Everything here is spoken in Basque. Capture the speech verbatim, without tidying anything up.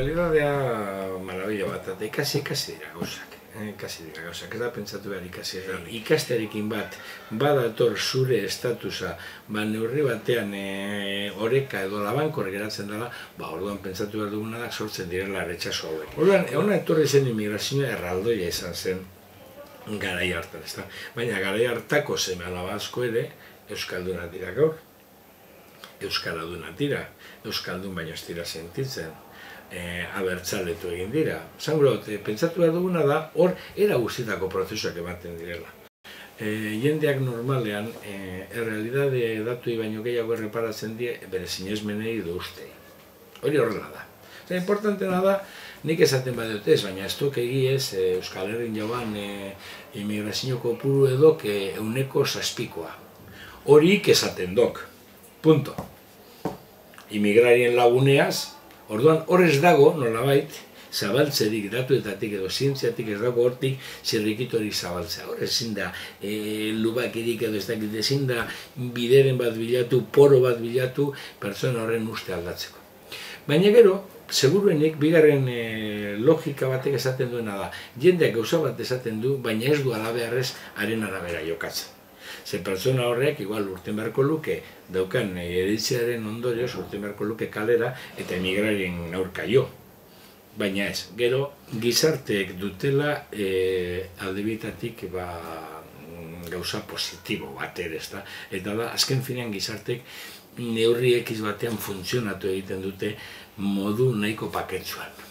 realidadea marabila bat, eta ikasi ikasi dira gauzak. Ikasi dira gauzak, ez da pentsatu behar ikasi ez da. Ikasterekin bat, badator zure estatusa, ba neurri batean oreka edo labankor geratzen dela, ba orduan pentsatu behar duguna da sortzen direla retxaso hauek. Orduan, hona etorri zen immigrazioa erraldoia izan zen garai hartan, ez da. Baina garai hartako seme alaba asko ere, euskaldunak dira gaur. Euskaradunak dira, euskaldun baino ez dira sentitzen. Abertzaletu egin dira. Zangurot, pentsatu behar duguna da, hor era guztietako prozesuak ematen direla. Jendeak normalean, errealidade datui baino gehiago erreparatzen die, bere sinesmenei edo ustei. Hori horrela da. Eta importantena da, nik esaten badut ez, baina ez duk egiez, Euskal Herrin jauan immigrazio kopuru edok euneko zazpikoa. Horik esaten dok. Punto. Immigrarien laguneaz, orduan horrez dago, nolabait, zabaltzerik, datuetatik edo zientziatik ez dago hortik zirrikitorik zabaltzea. Hor ezin da, lubakirik edo ez dakit, ezin da bideren bat bilatu, poro bat bilatu, pertsona horren uste aldatzeko. Baina gero, seguruenik, bigarren logika batek esaten duena da, jendeak gauza bat esaten du, baina ez du alabeharrez haren arabera jokatzen. Ze pertsona horrek, igual urten beharko luke, daukan eritziaren ondorioz urten beharko luke kalera eta emigrarien aurka jo. Baina ez, gero gizarteek dutela aldebitatik gauza positibo bat ere, ezta? Eta da, azken finean gizarteek neurri ekiz batean funtzionatu egiten dute modu nahiko paketsuan.